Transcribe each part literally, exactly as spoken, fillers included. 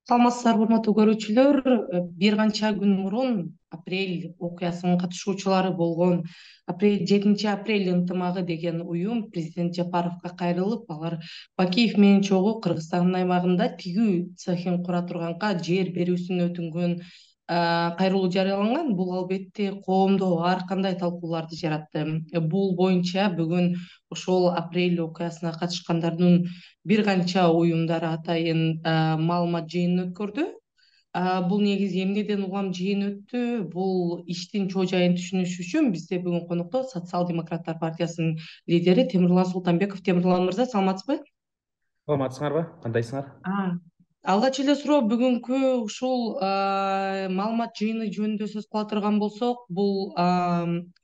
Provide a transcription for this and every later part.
Саламатсыздарбы, урматтуу көрүүчүлөр. Бир канча күн мурун апрель окуясынын катышуучулары болгон апрель жетинчи апрель ынтымагы деген уюм президент Жапаровго кайрылып, алар Бакиев менен чогуу Кыргызстандын аймагында тигүү цехин кура турганга жер берүүсүн өтүнгөн кайрылуу жарыяланган. Бул албетте коомдо ар кандай талкууларды жаратты. Бул боюнча бүгүн ошол апрель окуясына катышкандардын бир канча уюмдары атайын маалымат жыйынын өткөрдү. Бул негизи эмнеден улам жыйын өттү? Бул иштин чоо жайын түшүнүш үчүн бизде бүгүн конокто Социал-демократтар партиясынын лидери Темирлан Султанбеков. Темирлан мырза, саламатсызбы? Саламатсыңарбы? Кандайсыңар? Алгач эле суроо, бүгүнкү ушул маалымат жыйыны жөнүндө сөз кыла турган болсок, бул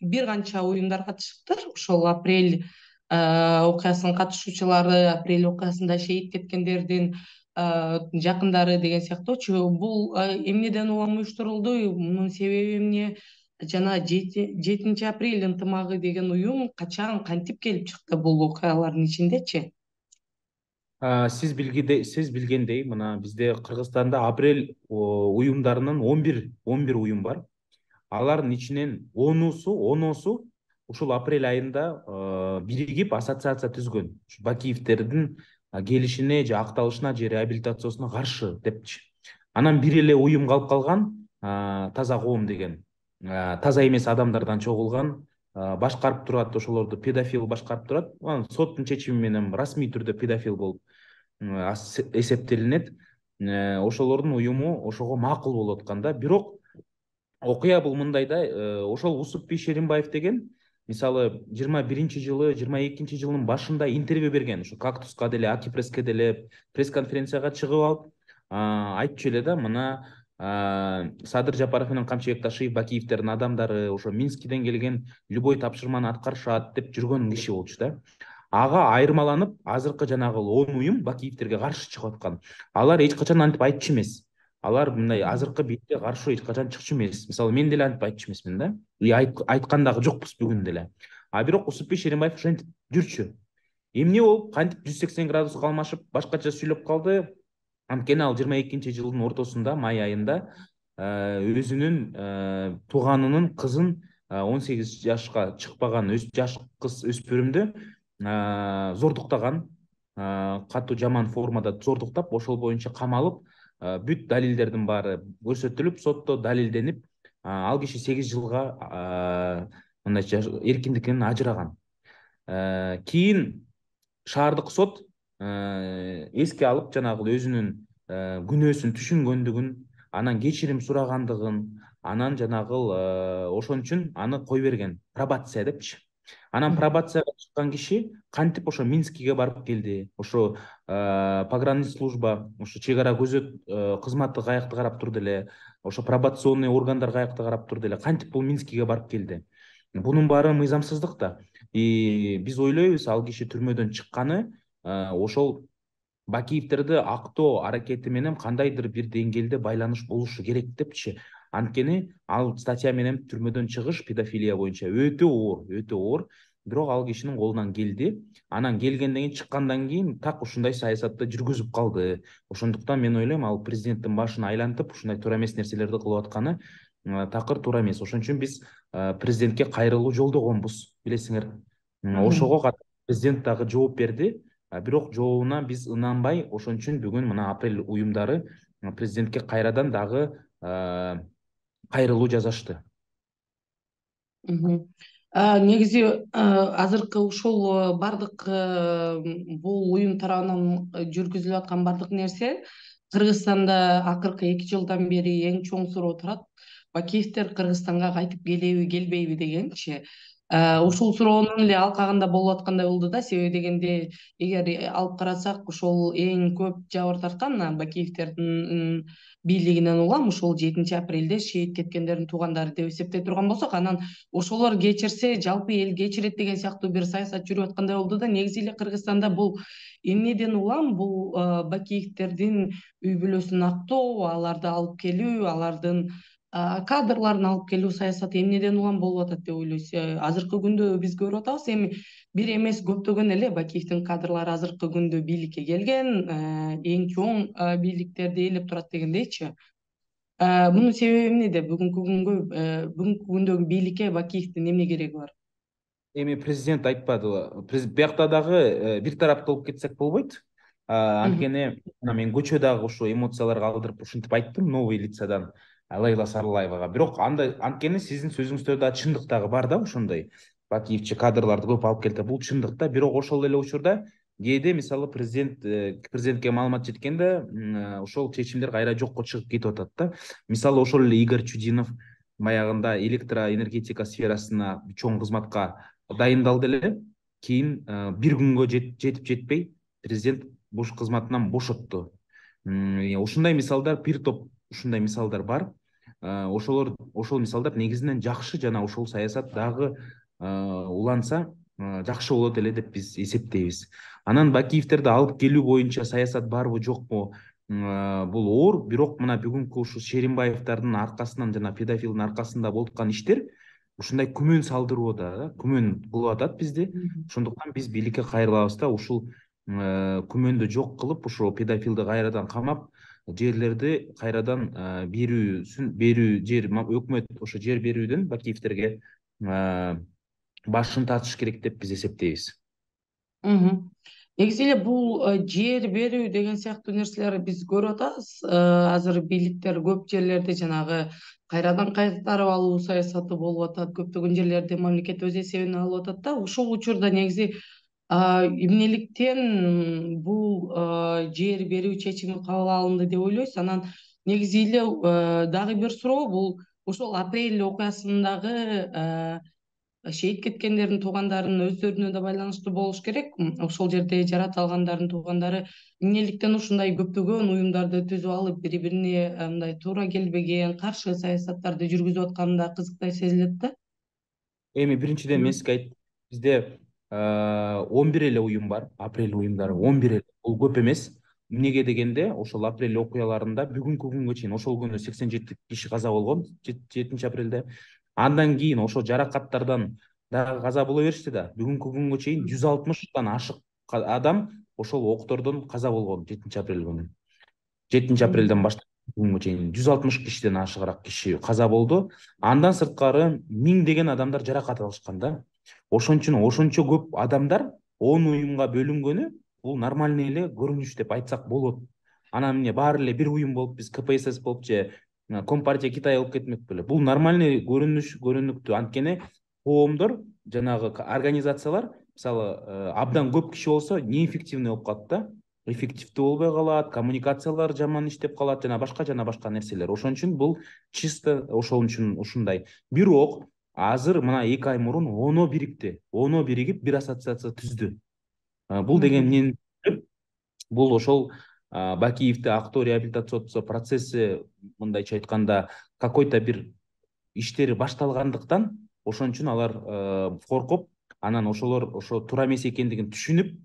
бир канча уюмдар катышыптыр. Ошол апрель окуясынын катышуучулары, апрель окуясында шейит кеткендердин жакындары деген сыяктуучу. Бул эмнеден улам уюштурулду? Мунун себеби эмне? Жана жетинчи апрель ынтымагы деген уюм качан, кантип келип чыкты бул окуялардын ичиндечи? Сиз билгендей, сиз билгендей, мына бизде Кыргызстанда апрель уюмдарынын он бир он бир уюм бар. Алардын ичинен онусу, оносу ушул апрель айында биригип ассоциация түзгөн. Бакиевтердин келишине же акталышына же реабилитациясына каршы депчи. Анан бир эле уюм калып калган, Таза коом деген. Таза эмес адамдардан чогулган, башкарып турат, ошолорду педофил башкарып турат. Анан соттун чечими менен расмий түрдө педофил болуп эсептелинет. Ошолордун уюму ошого макул болуп атканда, бирок окуя бул мындай да, ошол Усупбий Шеримбаев деген, мисалы, жыйырма биринчи жылы, жыйырма экинчи жылдын башында интервью берген, ошо Кактуска деле, Акипресске деле пресс-конференцияга чыгып алып, айтчу эле да, мына Садыр Жапаров менен Камчыбек Ташиев Бакиевтердин адамдары ошо Минскиден келген любой тапшырманы аткарышат деп жүргөн киши болчу да. Ага айырмаланып, азыркы жанагы он уюм Бакиевтерге каршы чыгып аткан. Алар эч качан антип айтчу эмес. Алар мындай азыркы бетке каршы эч качан чыкчу эмес. Мисалы, мен деле антип айтчу эмесмин да. И айткан дагы жокпуз бүгүн деле. А бирок Усупбий Шеримбаев ошентип жүрчү. Эмне болуп, кантип жүз сексен градуска алмашып, башкача сүйлөп калды? Анткени ал жыйырма экинчи жылдын ортосунда, май айында өзүнүн тууганынын кызын, он сегиз жашка чыкпаган жаш кыз өспүрүмдү зордуктаган, катуу жаман формада зордуктап, ошол боюнча камалып, бүт далилдердин баары көрсөтүлүп, сотто далилденип, ал киши сегиз жылга мындай эркиндиктен ажыраган. Кийин шаардык сот эске алып, жанагы өзүнүн күнөөсүн түшүнгөндүгүн, анан кечирим сурагандыгын, анан жанагы ошон үчүн аны кой берген, пробация депчи. Анан пробацияга чыккан киши кантип ошо Минскиге барып келди, ошо погранслужба, ошо чек ара көзөт кызматы каякта карап турду эле, ошо пробационный органдар каякта карап турду эле, кантип бул Минскиге барып келди? Бунун баары мыйзамсыздык да. И биз ойлойбуз, ал киши түрмөдөн чыкканы ошол Бакиевтерди актоо аракети менен кандайдыр бир деңгээлде байланыш болушу керек депчи. Анткени ал статья менен түрмөдөн чыгыш педофилия боюнча өтө оор, өтө оор. Бирок ал кишинин колунан келди. Анан келгенден кийин, чыккандан кийин так ушундай саясатты жүргүзүп калды. Ошондуктан мен ойлойм, ал президенттин башын айлантып ушундай туура эмес нерселерди кылып атканы такыр туура эмес. Ошон үчүн биз президентке кайрылуу жолдогонбуз, билесиңер. Ошого президент дагы жооп берди. Бирок жообуна биз ынанбай, ошон үчүн бүгүн мына апрель уюмдары президентке кайрадан дагы кайрылуу жазышты. Негизи азыркы ушул бардык бул уюм тарабынан жүргүзүлүп аткан бардык нерсе Кыргызстанда акыркы эки жылдан бери эң чоң суроо турат. Бакиевтер Кыргызстанга кайтып келеби, келбейби дегенчи. Ушул суроонун эле алкагында болуп аткандай болду да. Себеби дегенде, эгер алып карасак, ошол эң көп жабыр тарткан Бакиевтердин бийлигинен улам ушул жетинчи апрелде шейит кеткендердин туугандары деп эсептей турган болсок, анан ошолор кечирсе жалпы эл кечирет деген сыяктуу бир саясат жүрүп аткандай болду да. Негизи эле Кыргызстанда бул эмнеден улам бул Бакиевтердин үй бүлөсүн актоо, аларды алып келүү, алардын кадрларын алып келүү саясаты эмнеден улам болуп атат деп ойлойсуз? Азыркы күндө биз көрүп атабыз, эми бир эмес көптөгөн эле Бакиевдин кадрлары азыркы күндө бийликке келген, эң чоң бийликтерди ээлеп турат дегендейчи. Мунун себеби эмнеде? Бүгүнкү күнгө бүгүнкү күндөгү бийликке Бакиевдин эмне кереги бар? Эми президент айтпадыбы? Биякта дагы бир тараптуу болуп кетсек болбойт. Анткени мен көчө дагы ушу эмоцияларга алдырып ушинтип айттым новый лицадан Лейла Сарлаевага. Бирок андай анткени сиздин сөзүңүздө да чындык дагы бар да ошондой. Бакиевчи кадрларды көп алып келди. Бул чындык да. Бирок ошол эле учурда кээде мисалы президент президентке маалымат жеткенде ошол чечимдер кайра жокко чыгып кетип атат да. Мисалы ошол эле Игорь Чудинов баягында электроэнергетика сферасына чоң кызматка дайындалды эле. Кийин бир күнгө жетип жетпей президент буш кызматынан бошотту. Ушундай мисалдар бир топ ушундай мисалдар бар. Ошолор ошол мисалдар негизинен жакшы жана ошол саясат дагы уланса жакшы болот эле деп биз эсептейбиз. Анан Бакиевтерди алып келүү боюнча саясат барбы жокпу бул оор, бирок мына бүгүнкү ушу Шеримбаевдардын аркасынан жана педофилдин аркасында болуп аткан иштер ушундай күмөн салдырууда да, күмөн кылып атат бизди. Ошондуктан биз бийликке кайрылабыз да, ушул күмөндү жок кылып, ушул педофилди кайрадан камап, жерлерди кайрадан берүүсүн берүү жер өкмөт ошо жер берүүдөн Бакиевтерге башын тартыш керек деп биз эсептейбиз. Негизи эле бул жер берүү деген сыяктуу нерселерди биз көрүп атабыз. Азыр бийликтер көп жерлерди жанагы кайрадан кайтарып алуу саясаты болуп атат. Көптөгөн жерлерди мамлекет өз эсебине алып атат да. Ушул учурда негизи эмнеликтен бул жер берүү чечими кабыл алынды деп ойлойсуз? Анан негизи эле дагы бир суроо, бул ошол апрель окуясындагы шейит кеткендердин туугандарынын өздөрүнө да байланыштуу болуш керек. Ошол жерде жарат алгандардын туугандары эмнеликтен ушундай көптөгөн уюмдарды түзүп алып, бири-бирине мындай туура келбеген, каршы саясаттарды жүргүзүп атканы да кызыктай сезилет да. Эми биринчиден мен сизге айттым, бизде он бир эле уюм бар, апрель уюмдары он бир эле. Бул көп эмес. Эмнеге дегенде, ошол апрель окуяларында бүгүнкү күнгө чейин ошол күнү сексен жети киши каза болгон, жетинчи апрелде. Андан кийин ошол жаракаттардан дагы каза боло беришти да. Бүгүнкү күнгө чейин жүз алтымыштан ашык адам ошол октордон каза болгон жетинчи апрель күнү. жетинчи апрелден баштап бүгүнгө чейин жүз алтымыш кишиден ашыгыраак киши каза болду. Андан сырткары миңдеген адамдар жаракат алышкан да. Ошон үчүн ошончо көп адамдар он уюмга бөлүнгөнү бул нормальный эле көрүнүш деп айтсак болот. Анан эмне баары эле бир уюм болуп, биз КПСС болуп же Компартия Китай болуп кетмек беле. Бул нормальный көрүнүш, көрүнүктүү. Анткени коомдор, жанагы организациялар, мисалы, абдан көп киши болсо, неэффективный болуп калат да. Эффективдүү болбой калат, коммуникациялар жаман иштеп калат, жана башка жана башка нерселер. Ошон үчүн бул чисто ошон үчүн ушундай. Бирок азыр мына эки ай мурун оно бирикти. Оно биригип бир ассоциация түздү. Бул деген эмнени? Бул ошол Бакиевди актоо реабилитациялоо процесси, мындайча айтканда, какой-то бир иштери башталгандыктан, ошон үчүн алар коркуп, анан ошолор ошо туура эмес экендигин түшүнүп,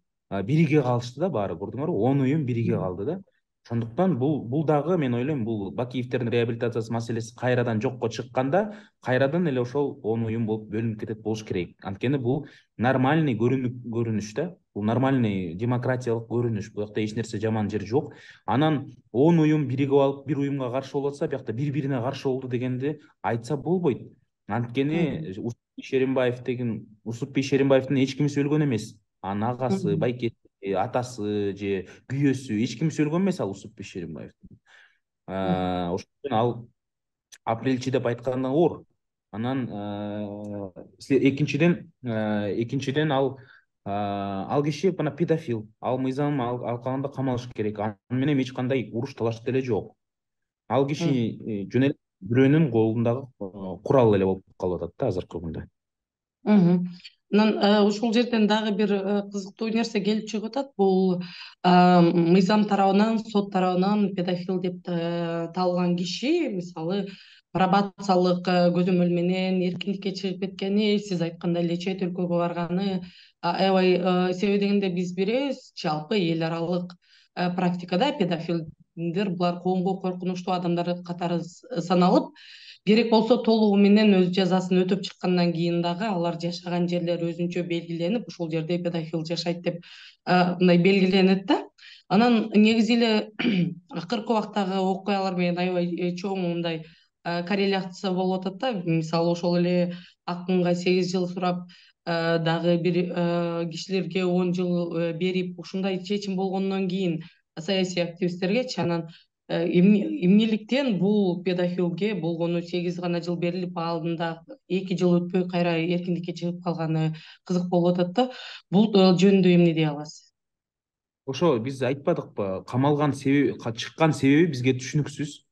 бириге калышты да баары, көрдүңөрбү? он уюм бириге калды да. Ошондуктан бул бул дагы мен ойлойм, бул Бакиевдердин реабилитациясы маселеси кайрадан жокко чыкканда, кайрадан эле ошол он уюм болуп бөлүнүп кетет болуш керек. Анткени бул нормальный көрүнүш да. Бул нормальный демократиялык көрүнүш. Бул жакта эч нерсе жаман жер жок. Анан он уюм биригип алып, бир уюмга каршы болуп атса, биякта бири-бирине каршы болду дегенди айтса болбойт. Анткени Усупбий Шеримбаев деген, Усупбий Шеримбаевдин эч кимиси өлгөн эмес. Анын агасы, байкеси, атасы же күйөөсү эч кимиси өлгөн эмес ал Усупбий Шеримбаевдин. Ошон үчүн ал апрельчи деп айткандан оор. Анан экинчиден экинчиден ал ал киши мына педофил. Ал мыйзам алкагында камалыш керек. Аны менен эч кандай уруш талаш деле жок. Ал киши жөн эле бирөөнүн колундагы курал эле болуп калып атат да азыркы күндө. Анан ушул жерден дагы бир кызыктуу нерсе келип чыгып атат. Бул мыйзам тарабынан, сот тарабынан педофил деп табылган киши, мисалы, пробациялык көзөмөл менен эркиндикке чыгып кеткени, сиз айткандай эле чет өлкөгө барганы, аябай себеби дегенде биз билебиз, жалпы эл аралык практикада педофилдер булар коомго коркунучтуу адамдар катары саналып, керек болсо толугу менен өз жазасын өтөп чыккандан кийин дагы алар жашаган жерлер өзүнчө белгиленип, ушул жерде педофил жашайт деп мындай белгиленет да. Анан негизи эле акыркы убактагы окуялар менен аябай чоң мындай корреляция болуп атат да. Мисалы ошол эле Акынга сегиз жыл сурап, дагы бир кишилерге он жыл берип, ушундай чечим болгондон кийин саясий активистергечи анан эмнеликтен бул педофилге болгону сегиз гана жыл берилип, алдында эки жыл өтпөй кайра эркиндикке чыгып калганы кызык болуп атат да. Бул жөнүндө эмне дей аласыз? Ошо биз айтпадыкпы, камалган себеби, чыккан себеби бизге түшүнүксүз.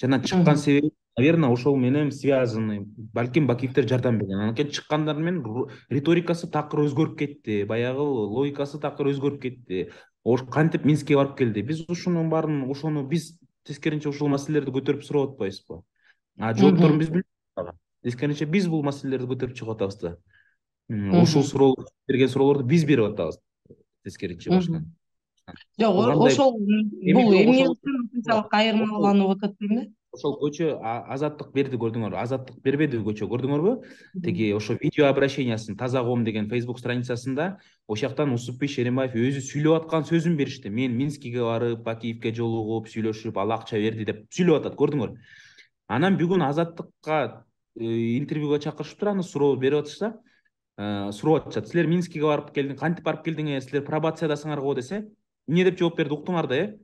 Жана чыккан себеби, наверное, ошол менен связаны. Балким Бакиевдер жардам берген. Анткени чыккандар менен риторикасы такыр өзгөрүп кетти, баягы логикасы такыр өзгөрүп кетти. Ош кантип Минскке барып келди. Биз ушунун баарын, ошону биз тескеринче ушул маселелерди көтөрүп сурап атпайбызбы? А жоопторун биз билбейбиз. Тескеринче биз бул маселелерди көтөрүп чыгып атабыз да. Ушул суроо берген суроолорду биз берип атабыз. Тескеринче башкан. Жок, ошол бул эмне үчүн ушунчалык айырмаланып атат дейм. Ошол көчө Азаттык берди, көрдүңөрбү? Азаттык бербеди көчө, көрдүңөрбү? Теги ошо видео обращениясын Таза коом деген Facebook страницасында ошол жактан Усупбек Шеримбаев өзү сүйлөп аткан сөзүн беришти. Мен Минскиге барып, Бакиевке жолугуп, сүйлөшүп, ал акча берди деп сүйлөп атат, көрдүңөр. Анан бүгүн Азаттыкка интервьюга чакырышып туруп, аны суроо берип атышса, суроо атышат. Силер Минскиге барып келдиң, кантип барып келдиңер? Силер пробациядасыңар го десе, эмне деп жооп берди, уктуңар да, э?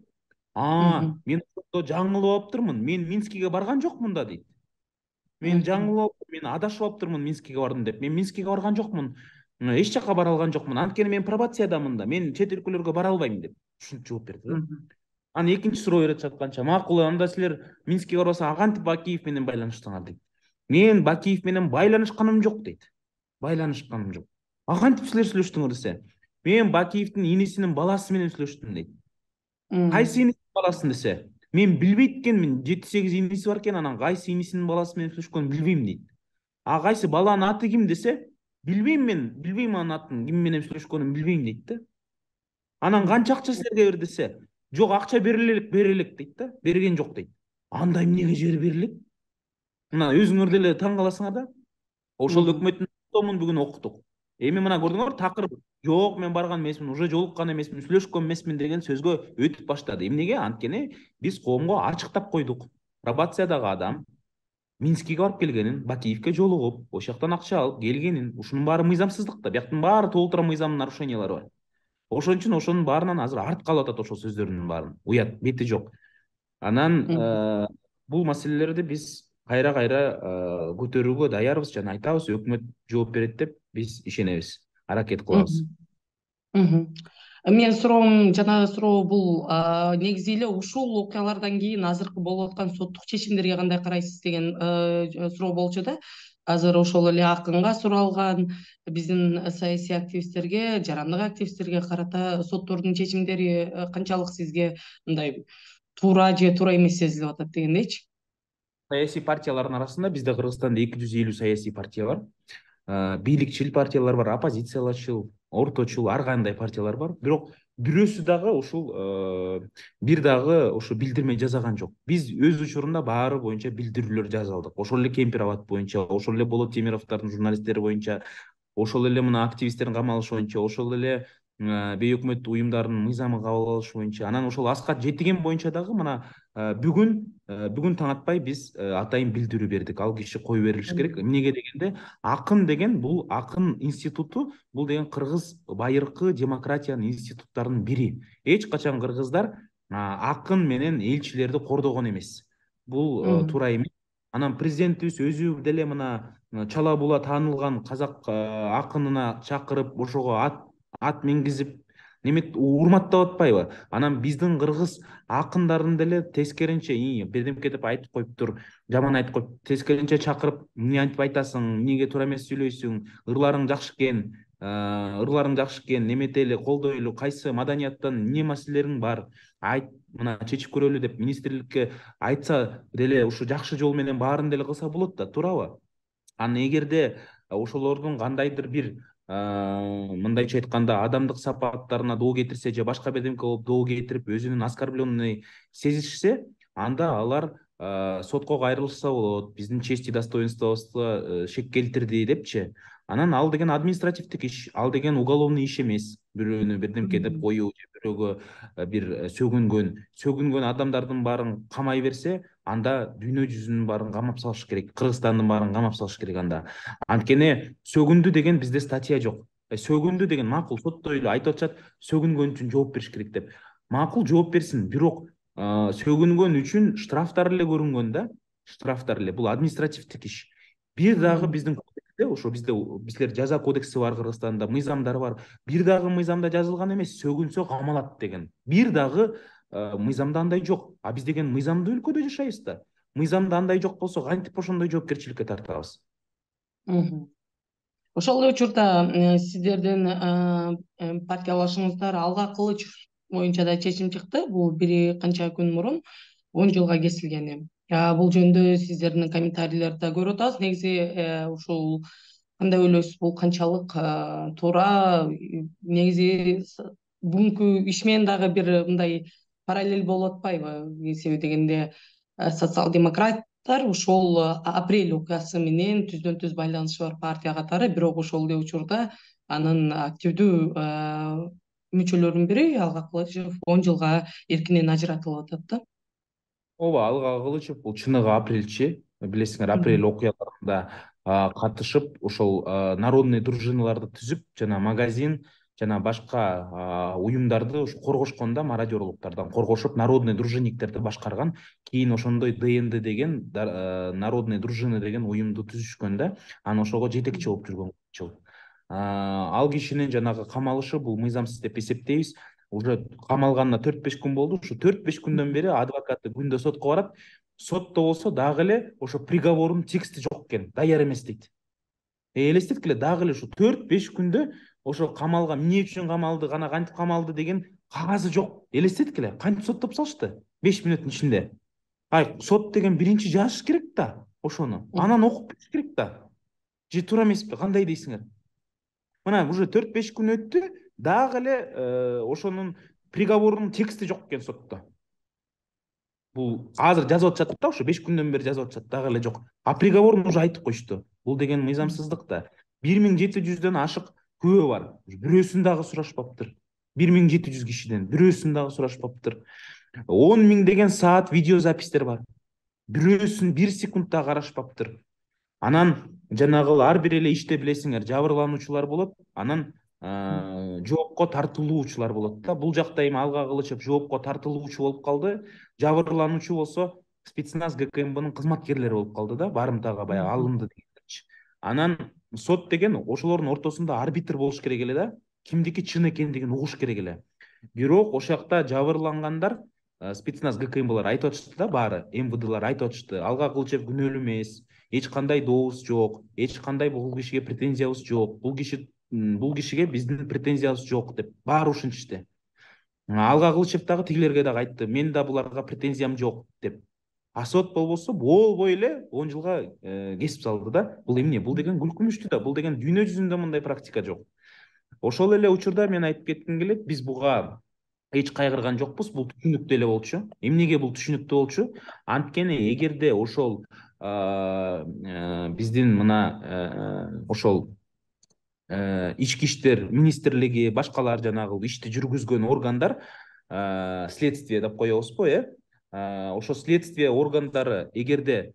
А, мен ошондо жаңылып алыптырмын. Мен Минскиге барган жокмун да дейт. Мен жаңылып, мен адашып алыптырмын Минскиге бардым деп. Мен Минскиге барган жокмун. Эч жака бара алган жокмун. Анткени мен пробациядамын да. Мен чет өлкөлөргө бара албайм деп. Ушинтип жооп берди да. Анан экинчи суроо берип жатканча, макул, анда силер Минскиге барбаса, а кантип Бакиев менен байланыштыңар дейт. Мен Бакиев менен байланышканым жок дейт. Байланышканым жок. А кантип силер сүйлөштүңөр десе, мен Бакиевдин инисинин баласы менен сүйлөштүм дейт. Кайсы инисинин баласын десе, мен билбейт экенмин, жети сегиз иниси бар экен, анан кайсы инисинин баласы менен сүйлөшкөнүн билбейм дейт. А кайсы баланын аты ким десе, билбейм мен, билбейм анын атын, ким менен сүйлөшкөнүн билбейм дейт да. Анан канча акча силерге бер десе, жок, акча берилек, берилек дейт да. Берген жок дейт. Анда эмнеге жер берилет? Мына өзүңөр деле таң каласыңар да. Ошол өкмөттүн томун бүгүн окуттук. Эми мына көрдүңөр, такыр жок, мен барган эмесмин, уже жолуккан эмесмин, сүйлөшкөн эмесмин деген сөзгө өтүп баштады. Эмнеге? Анткени биз коомго ачыктап койдук. Пробациядагы адам Минскиге барып келгенин, Бакиевке жолугуп, ошол жактан акча алып келгенин, ушунун баары мыйзамсыздык да. Бияктын баары толтура мыйзамдын нарушениялары бар. Ошон үчүн ошонун баарынан азыр арт калып атат, ошол сөздөрдүн баарын. Уят, бети жок. Анан бул маселелерди биз кайра-кайра көтөрүүгө даярбыз жана айтабыз, өкмөт жооп берет деп биз ишенебиз, аракет кылабыз. Менин суроом, жанагы суроо бул негизи эле ушул окуялардан кийин азыркы болуп аткан соттук чечимдерге кандай карайсыз деген суроо болчу да. Азыр ошол эле Акынга суралган, биздин саясий активисттерге, жарандык активисттерге карата соттордун чечимдери канчалык сизге мындай туура же туура эмес сезилип атат дегендейчи? Саясий партиялардын арасында бизде Кыргызстанда эки жүз элүү саясий партия бар. Бийликчил партиялар бар, оппозициялачыл, орточул, ар кандай партиялар бар. Бирок бирөөсү дагы ушул бир дагы ошо билдирме жасаган жок. Биз өз учурунда баары боюнча билдирүүлөр жазалдык. Ошол эле Кемпирабад боюнча, ошол эле Болот Темировдордун журналисттери боюнча, ошол эле мына активисттердин камалышы боюнча, ошол эле бейөкмөттүк уюмдардын мыйзамы кабыл алышы боюнча, анан ошол Аскат Жетиген боюнча дагы мына бүгүн бүгүн таң атпай биз атайын билдирүү бердик. Ал киши кое берилиш керек. Эмнеге дегенде, Акын деген бул Акын институту, бул деген кыргыз байыркы демократиянын институттарынын бири. Эч качан кыргыздар Акын менен элчилерди кордогон эмес. Бул туура эмес. Анан президентибиз өзү деле мына чала була таанылган казак акынына чакырып, ошого ат ат мингизип немет урматтап атпайбы? Анан биздин кыргыз акындарын деле тескеринче бирдемке деп айтып коюптур, жаман айтып коюп, тескеринче чакырып, эмне антип айтасың, эмнеге туура эмес сүйлөйсүң, ырларың жакшы экен, ырларың жакшы экен, неметели, колдойлу, кайсы маданияттан эмне маселелериң бар, айт, мына чечип көрөлү деп министрликке айтса деле ушу жакшы жол менен баарын деле кылса болот да, туурабы? Анан эгерде ошолордун кандайдыр бир мындайча айтканда адамдык сапаттарына доо кетирсе же башка бирдемке болуп доо кетирип өзүнүн оскорбленный сезишсе, анда алар сотко кайрылышса болот, биздин честь и достоинствобузга шек келтирди депчи. Анан ал деген административдик иш, ал деген уголовный иш эмес. Бирөөнү бирдемке деп коюу же бирөөгө бир сөгүнгөн, сөгүнгөн адамдардын баарын камай берсе, анда дүйнө жүзүнүн баарын камап салыш керек, Кыргызстандын баарын камап салыш керек анда. Анткени сөгүндү деген бизде статья жок. Сөгүндү деген макул, сотто эле айтып атышат, сөгүнгөн үчүн жооп бериш керек деп. Макул, жооп берсин, бирок сөгүнгөн үчүн штрафтар эле көрүнгөн да, штрафтар эле. Бул административдик иш. Бир дагы биздин кодексте, ошо бизде бизлер жаза кодекси бар Кыргызстанда, мыйзамдар бар. Бир дагы мыйзамда жазылган эмес, сөгүнсө камалат деген. Бир дагы мыйзамда андай жок. А биз деген мыйзамдуу өлкөдө жашайбыз да. Мыйзамда андай жок болсо, кантип ошондой жоопкерчиликке тартабыз? Ошол эле учурда сиздердин партиялашыңыздар Алга Кылыч боюнча да чечим чыкты. Бул бир канча күн мурун он жылга кесилгени. Бул жөнүндө сиздердин комментарийлерди да көрүп атабыз. Негизи ушул кандай ойлойсуз, бул канчалык туура? Негизи бүгүнкү иш менен дагы бир мындай параллель болуп атпайбы? Себеби дегенде социал-демократтар ушул апрель окуясы менен түздөн түз байланышы бар партия катары, бирок ошол эле учурда анын активдүү мүчөлөрүнүн бири Алга Кылычев он жылга эркинен ажыратылып атат да. Ооба, Алга Кылычев бул чыныгы апрельчи. Билесиңер, апрель окуяларында катышып, ошол народный дружиналарды түзүп, жана магазин жана башка уюмдарды ушу коргошкон да, мародерлуктардан коргошуп, народный дружинниктерди башкарган. Кийин ошондой ДНД деген, народный дружина деген уюмду түзүшкөн да. Анан ошого жетекчи болуп жүргөн жыл. Ал кишинин жанагы камалышы бул мыйзамсыз деп эсептейбиз. Уже камалганына төрт беш күн болду. Ушу төрт беш күндөн бери адвокаты күндө сотко барат. Сотто болсо дагы эле ошо приговордун тексти жок экен, даяр эмес дейт. Элестеткиле, дагы эле ушу төрт беш күндө ошо камалга эмне үчүн камалды, кана кантип камалды деген кагазы жок. Элестеткиле, кантип соттоп салышты беш мүнөттүн ичинде. Ай, сот деген биринчи жазыш керек да ошону. Анан окуп бериш керек да. Же туура эмеспи? Кандай дейсиңер? Мына уже төрт беш күн өттү, дагы эле ошонун приговорунун тексти жок экен сотто. Бул азыр жазып атышат да, ошо беш күндөн бери жазып атышат, дагы эле жок. А приговорун уже айтып коюшту. Бул деген мыйзамсыздык да. бир миң жети жүздөн ашык күбө бар. Бирөөсүн дагы сурашпаптыр. бир миң жети жүз кишиден бирөөсүн дагы сурашпаптыр. он миң деген саат видеозапистер бар. Бирөөсүн бир секунд да карашпаптыр. Анан жанагы ар бир эле иште билесиңер, жабырлануучулар болот, анан жоопко тартылуучулар болот да. Бул жакта эми Алга Кылычев жоопко тартылуучу болуп калды, жабырлануучу болсо спецназ ГКМБнын кызматкерлери болуп калды да, барымтага баягы алынды дегенчи. Анан сот деген ошолордун ортосунда арбитр болуш керек эле да, кимдики чын экендигин угуш керек эле. Бирок ошол жакта жабырлангандар, спецназ ГКМБлар айтып атышты да, баары МВДлар айтып атышты, Алга Кылычев күнөөлүү эмес, эч кандай дообуз жок, эч кандай бул кишиге претензиябыз жок, бул киши бул кишиге биздин претензиябыз жок деп баары ушинтишти. Алга Кылычев дагы тигилерге дагы айтты, мен да буларга претензиям жок деп. А сот болбосо болбой эле он жылга кесип салды да. Бул эмне? Бул деген күлкүнүчтүү да, бул деген дүйнө жүзүндө мындай практика жок. Ошол эле учурда мен айтып кетким келет, биз буга эч кайгырган жокпуз, бул түшүнүктүү эле болчу. Эмнеге бул түшүнүктүү болчу? Анткени эгерде ошол биздин мына ошол ички иштер министрлиги, башкалар жанагы ишти жүргүзгөн органдар, следствие деп коебузбу, э? Ошо следствие органдары эгерде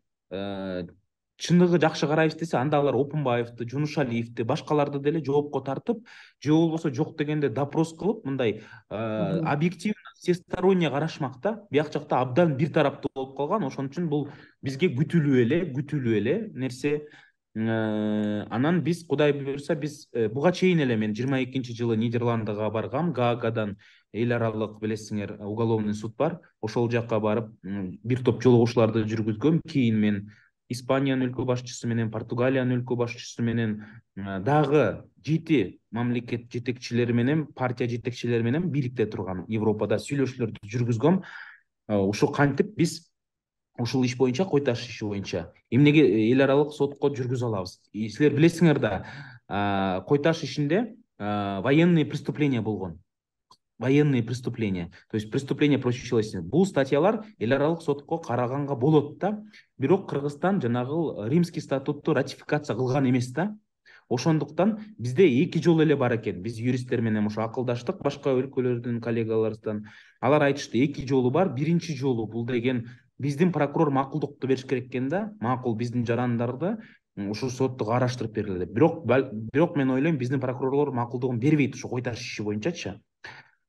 чыныгы жакшы карайбыз десе, анда алар Опунбаевди, Жунушалиевди, башкаларды деле жоопко тартып, же болбосо жок дегенде допрос кылып, мындай объективно, всесторонне карашмак да. Бияк жакта абдан бир тараптуу болуп калган. Ошон үчүн бул бизге күтүлүү эле, күтүлүү эле нерсе. Анан биз, Кудай буйруса, биз буга чейин эле мен жыйырма экинчи жылы Нидерландыга баргам, Гаагадан эл аралык, билесиңер, уголовный суд бар. Ошол жакка барып бир топ жолугушууларды жүргүзгөм. Кийин мен Испаниянын өлкө башчысы менен, Португалиянын өлкө башчысы менен, дагы жети мамлекет жетекчилери менен, партия жетекчилери менен бийликте турган Европада сүйлөшүүлөрдү жүргүзгөм. Ушул кантип биз ушул иш боюнча, кой таш иши боюнча эмнеге эл аралык сотко жүргүзө алабыз? Силер билесиңер да, Кой Таш ишинде военные преступления болгон. Военные преступления. То есть преступление против человечности. Бул статьялар эл аралык сотко караганга болот да. Бирок Кыргызстан жанагы Римский статутту ратификация кылган эмес да. Ошондуктан бизде эки жол эле бар экен. Биз юристтер менен ошо акылдаштык башка өлкөлөрдүн коллегаларыбыздан. Алар айтышты, эки жолу бар. Биринчи жолу бул деген биздин прокурор макулдукту бериш керек экен да. Макул биздин жарандарды ушул сотто караштырып бергиле деп. Бирок бирок мен ойлойм, биздин прокурорлор макулдугун бербейт ошо Кой Таш иши боюнчачы.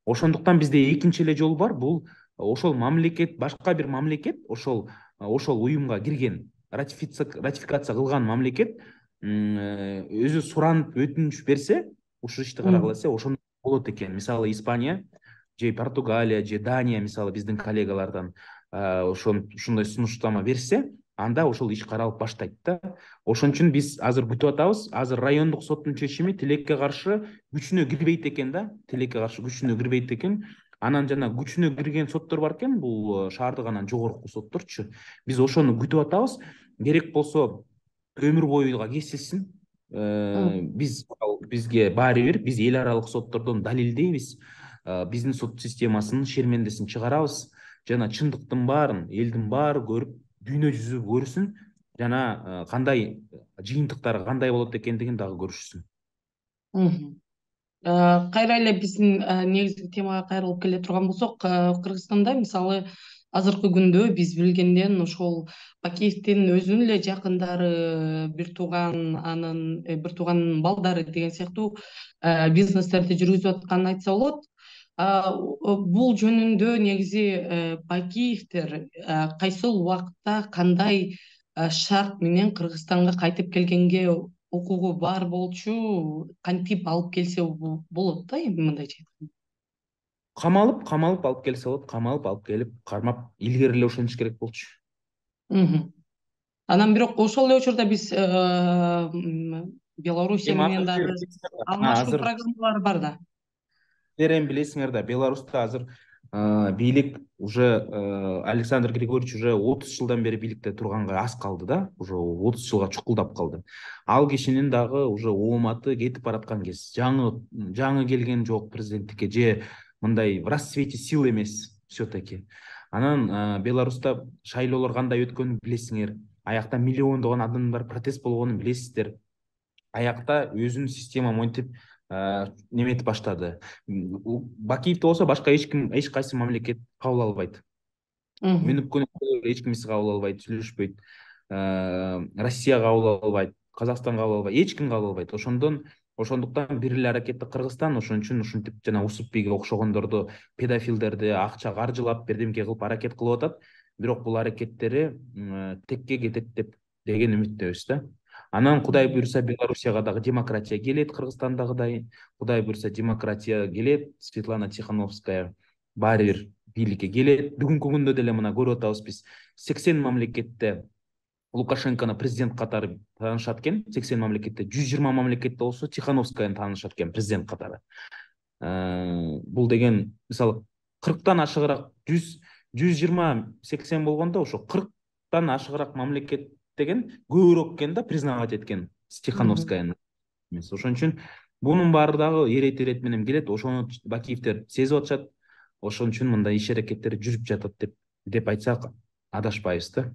Ошондуктан бизде экинчи эле жол бар. Бул ошол мамлекет, башка бир мамлекет, ошол ошол уюмга кирген, ратификация кылган мамлекет өзү суранып өтүнүч берсе, ушул ишти карагыла десе, ошондо болот экен. Мисалы Испания же Португалия же Дания, мисалы биздин коллегалардан ошон ушундай сунуштама берсе, анда ошол иш каралып баштайт да. Ошон үчүн биз азыр күтүп атабыз. Азыр райондук соттун чечими тилекке каршы күчүнө кирбейт экен да. Тилекке каршы күчүнө кирбейт экен. Анан жана күчүнө кирген соттор бар экен, бул шаардык анан жогорку сотторчу. Биз ошону күтүп атабыз. Керек болсо өмүр боюга кесилсин. Биз бизге баары бир, биз эл аралык соттордон далилдейбиз. Биздин сот системасынын шермендесин чыгарабыз. Жана чындыктын баарын элдин баары көрүп, дүйнө жүзү көрсүн, жана кандай жыйынтыктары кандай болот экендигин дагы көрүшсүн. Кайра эле биздин негизги темага кайрылып келе турган болсок, Кыргызстанда мисалы азыркы күндө биз билгенден ошол Бакиевдин өзүнүн эле жакындары, бир тууган, анын бир тууганын балдары деген сыяктуу бизнестерди жүргүзүп атканын айтса болот. Бул жөнүндө негизи Бакиевдер кайсыл убакытта кандай шарт менен Кыргызстанга кайтып келгенге укугу бар болчу, кантип алып келсе болот да, эми мындайча айтканда. Камалып, камалып алып келсе болот, камалып алып келип, кармап, илгери эле ошентиш керек болчу. Анан бирок ошол эле учурда биз Белоруссия менен дагы алмашуу программалары бар да. Силер эми билесиңер да, Беларуста азыр бийлик уже Александр Григорьевич уже отуз жылдан бери бийликте турганга аз калды да, уже отуз жылга чукулдап калды. Ал кишинин дагы уже ооматы кетип бараткан кез. Жаңы жаңы келген жок президенттикке, же мындай в расцвете сил эмес все-таки. Анан Беларуста шайлоолор кандай өткөнүн билесиңер. Аякта миллиондогон адамдар протест болгонун билесиздер. Аякта өзүнүн система монтип неметип баштады. Бакиевди болсо башка эч ким, эч кайсы мамлекет кабыл албайт. Мен өпкөн эч ким кабыл албайт, сүйлөшпөйт. Россия кабыл албайт, Казакстан кабыл албайт, эч ким кабыл албайт. Ошондон ошондуктан бир эле аракетти Кыргызстан ошон үчүн ушинтип жана Усупбийге окшогондорду, педофилдерди акча каржылап, бирдемке кылып аракет кылып атат. Бирок бул аракеттери текке кетет деп деген үмүттөбүз да. Анан Кудай буйрса Белоруссияга дагы демократия келет, Кыргызстандагыдай. Кудай буйрса демократия келет, Светлана Тихановская баары бир бийликке келет. Бүгүнкү күндө деле мына көрүп атабыз биз сексен мамлекетте Лукашенкону президент катары таанышат экен. сексен мамлекетте, жүз жыйырма мамлекетте болсо Тихановскаяны таанышат экен президент катары. Бул деген мисалы кырктан ашыгыраак, жүз жыйырма сексен болгондо ошо кырктан ашыгыраак мамлекет деген көбүрөөк экен да признавать эткен Тихановскаяны. Ошон үчүн бунун баары дагы эрет-эрет менен келет. Ошону Бакиевдер сезип атышат. Ошон үчүн мындай иш аракеттер жүрүп жатат деп деп айтсак адашпайбыз да.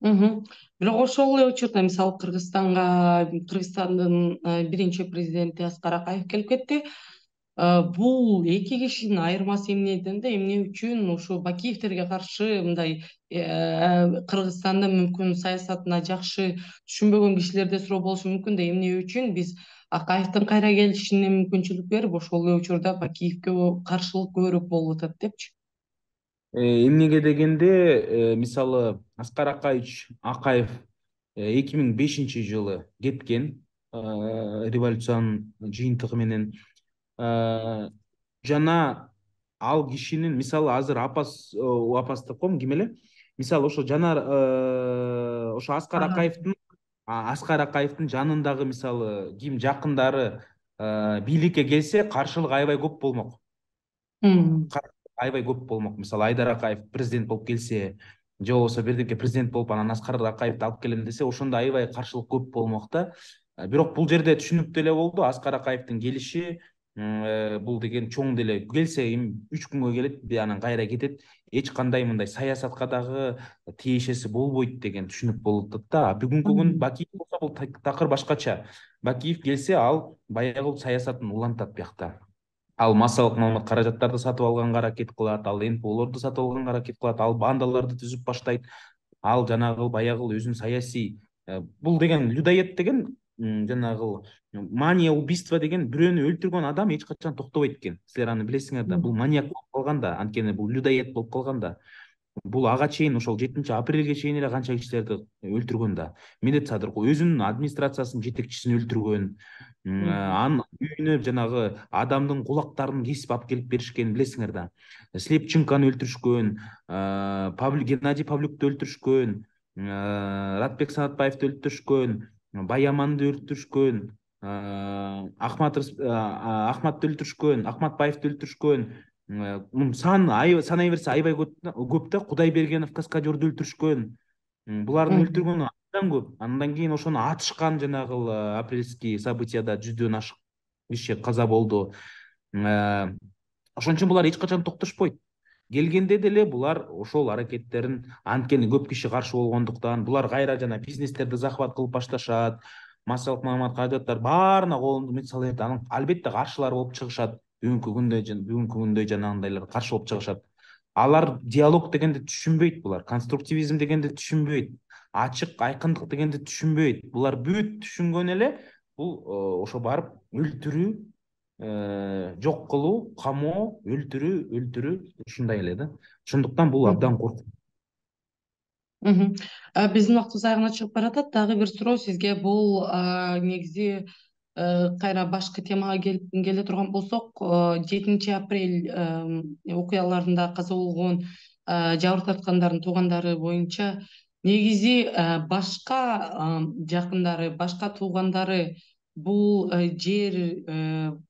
Бирок ошол эле учурда мисалы Кыргызстанга Кыргызстандын биринчи президенти Аскар Акаев келип кетти. Бул эки кишинин айырмасы эмне дегенде, эмне үчүн ушу Бакиевдерге каршы мындай Кыргызстанда мүмкүн саясатына жакшы түшүнбөгөн кишилерде суроо болушу мүмкүн да, эмне үчүн биз Акаевдин кайра келишине мүмкүнчүлүк берип, ошол эле учурда Бакиевге каршылык көбүрөөк болуп атат депчи. Эмнеге дегенде, мисалы Аскар Акаевич Акаев эки миң бешинчи жылы кеткен революциянын жыйынтыгы менен. Жана ал кишинин мисалы азыр апас апас деп коем, ким эле? Мисалы ошо жанар ошо Аскар Акаевдин Аскар Акаевдин жанындагы мисалы ким жакындары бийликке келсе, каршылык аябай көп болмок. Аябай көп болмок. Мисалы Айдар Акаев президент болуп келсе, же болбосо бирдеке президент болуп анан Аскар Акаевди алып келем десе, ошондо аябай каршылык көп болмок да. Бирок бул жерде түшүнүктүү эле болду. Аскар Акаевдин келиши бул деген чоң деле келсе эми үч күнгө келет, анан кайра кетет. Эч кандай мындай саясатка дагы тиешеси болбойт деген түшүнүк болуп атат да. Бүгүнкү күн Бакиев болсо бул такыр башкача. Бакиев келсе ал баягы саясатын улантат биякта. Ал массалык маалымат каражаттарды сатып алганга аракет кылат, ал эн пэ олорду сатып алганга аракет кылат, ал бандаларды түзүп баштайт. Ал жанагы баягы өзүнүн саясий бул деген людоед деген жанагы мания убийства деген бирөөнү өлтүргөн адам эч качан токтобойт экен. Силер аны билесиңер да. Бул маниак болуп калган да, анткени бул людоед болуп калган да. Бул ага чейин ошол жетинчи апрелге чейин эле канча кишилерди өлтүргөн да. Медет Садыркул өзүнүн администрациясынын жетекчисин өлтүргөн. Анын үйүнө жанагы адамдын кулактарын кесип алып келип беришкенин билесиңер да. Слепченканы өлтүрүшкөн, Геннадий Павлюкты өлтүрүшкөн, Ратбек Санатбаевди өлтүрүшкөн, Баяманды өлтүрүшкөн, Ахматты өлтүрүшкөн, Ахматбаевди өлтүрүшкөн. Сан санай берсе аябай көп да. Кудайбергенов каскадерди өлтүрүшкөн. Булардын өлтүргөнү андан көп. Андан кийин ошону атышкан жанагы апрельский событияда жүздөн ашык киши каза болду. Ошон үчүн булар эч качан токтошпойт. Келгенде деле булар ошол аракеттерин, анткени көп киши каршы болгондуктан, булар кайра жана бизнестерди захват кылып башташат. Массалык маалымат каражаттар баарына колунду мет салат. Анан албетте каршылар болуп чыгышат. Бүгүнкү күндө бүгүнкү күндө жанагындайлар каршы болуп чыгышат. Алар диалог дегенди түшүнбөйт, булар конструктивизм дегенди түшүнбөйт, ачык айкындык дегенди түшүнбөйт. Булар бүт түшүнгөн эле бул ошо барып өлтүрүү, жок кылуу, камоо, өлтүрүү, өлтүрүү ушундай эле да. Ошондуктан бул абдан коркунучтуу. Биздин убактыбыз аягына чыгып баратат. Дагы бир суроо сизге. Бул негизи кайра башкы темага келип келе турган болсок, жетинчи апрель окуяларында каза болгон жабыр тарткандардын туугандары боюнча негизи башка жакындары, башка туугандары бул жер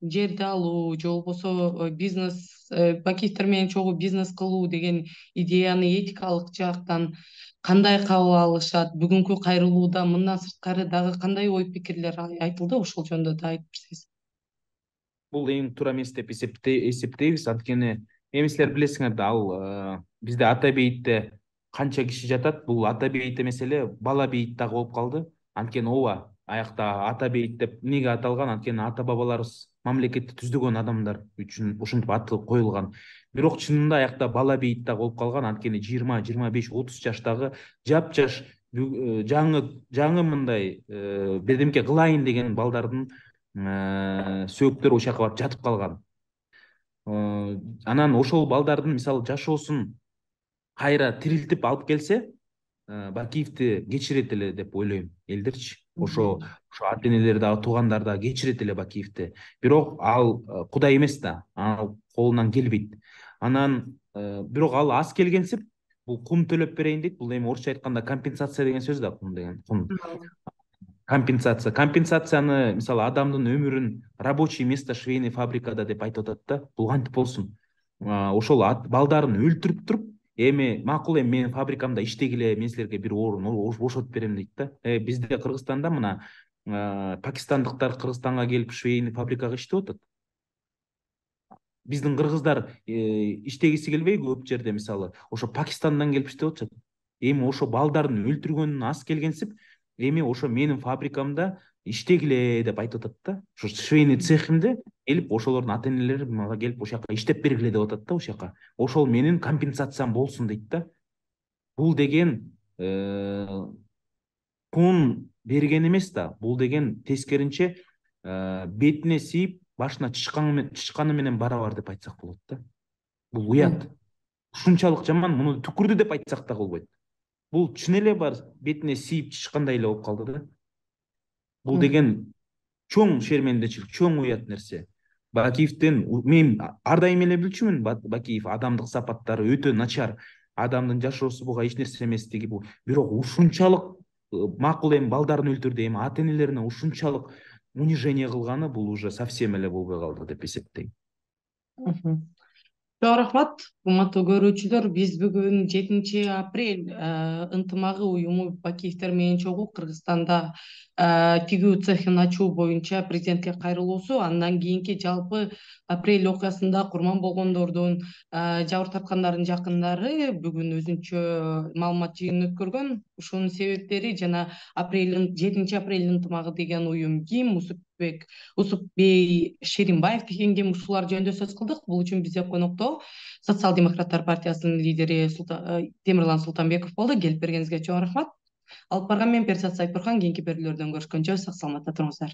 жерди алуу же болбосо бизнес, Бакиевдер менен чогуу бизнес кылуу деген идеяны этикалык жактан кандай кабыл алышат? Бүгүнкү кайрылууда мындан сырткары дагы кандай ой пикирлер айтылды? Ошол жөнүндө да айтып берсеңиз. Бул эң туура эмес деп эсептейбиз, анткени эми силер билесиңер да, ал бизде ата бейитте канча киши жатат. Бул ата бейит эмес эле, бала бейит дагы болуп калды. Анткени ооба, аякта ата бейит деп эмнеге аталган? Анткени ата бабаларыбыз мамлекетти түздөгөн адамдар үчүн ушинтип аты коюлган. Бирок чынында аякта бала бейит дагы болуп калган. Анткени жыйырма, жыйырма беш, отуз жаштагы жапжаш жаңы жаңы мындай бирдемке кылайын деген балдардын сөөктөрү ошол жака барып жатып калган. Анан ошол балдардын мисалы жашоосун кайра тирилтип алып келсе, Бакиевди кечирет эле деп ойлойм элдерчи. Ошо ошо ата энелер дагы, туугандар дагы кечирет эле Бакиевди. Бирок ал Кудай эмес да, ал колунан келбейт. Анан бирок ал аз келгенсип бул кум төлөп берейин дейт. Бул эми орусча айтканда компенсация деген сөз да, кум деген. Кум. Компенсация. Компенсацияны мисалы адамдын өмүрүн рабочий место швейный фабрикада деп айтып атат да. Бул кантип болсун? Ошол балдарын өлтүрүп туруп, эми макул, эми менин фабрикамда иштегиле, мен силерге бир орун бошотуп берем дейт да. Бизде Кыргызстанда мына пакистандыктар Кыргызстанга келип швейный фабрикага иштеп атат. Биздин кыргыздар иштегиси келбей көп жерде мисалы ошо Пакистандан келип иштеп атышат. Эми ошо балдарын өлтүргөнүн аз келгенсип, эми ошо менин фабрикамда иштегиле деп айтып атат да. Ошо швейный цехимде келип ошолордун ата энелери мага келип ошол жака иштеп бергиле деп атат да, ошол жака. Ошол менин компенсациям болсун дейт да. Бул деген кун берген эмес да. Бул деген тескеринче бетине сийип башына чычканы менен барабар деп айтсак болот да. Бул уят. Ушунчалык жаман, муну түкүрдү деп айтсак да болбойт. Бул чын эле бар бетине сийип чычкандай эле болуп калды да. Бул деген чоң шермендечилик, чоң уят нерсе. Бакиевдин мен ар дайым эле билчүмүн, Бакиев адамдык сапаттары өтө начар, адамдын жашоосу буга эч нерсе эместиги бул. Бирок ушунчалык макул эми балдарын өлтүрдү, эми ата энелерине ушунчалык унижение кылганы бул уже совсем эле болбой калды деп эсептейм. Чоң рахмат, урматтуу көрүүчүлөр. Биз бүгүн жетинчи апрель ынтымагы уюму Бакиевдер менен чогуу Кыргызстанда тигүү цехин ачуу боюнча президентке кайрылуусу, андан кийинки жалпы апрель окуясында курман болгондордун, жабыр тарткандардын жакындары бүгүн өзүнчө маалымат жыйынын өткөргөн. Ушунун себептери жана апрель жетинчи апрель ынтымагы деген уюм ким, Усупбек Усупбей Шеринбаев деген ким, ушулар жөнүндө сөз кылдык. Бул үчүн бизде конокто Социал-демократтар партиясынын лидери Темирлан Султанбеков болду. Келип бергениңизге чоң рахмат. Алып барган мен Перзат Сайпурхан. Кийинки берүүлөрдөн көрүшкөнчө сак саламатта туруңуздар.